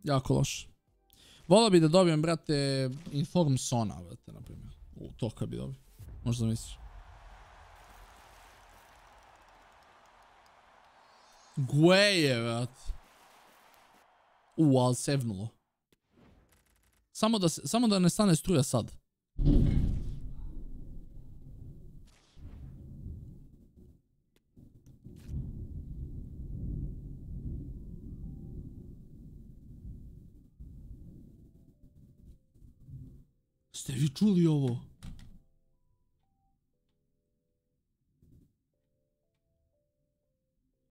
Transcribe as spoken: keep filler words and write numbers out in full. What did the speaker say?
Jako loš. Volio bi da dobijem, brate, Inform Sona, brate, na primjer. U, to kad bi dobio. Možda misliš. Gueje, brate. U, ali sevnulo. Samo da, se, samo da ne stane struja sad. Ste vi čuli ovo?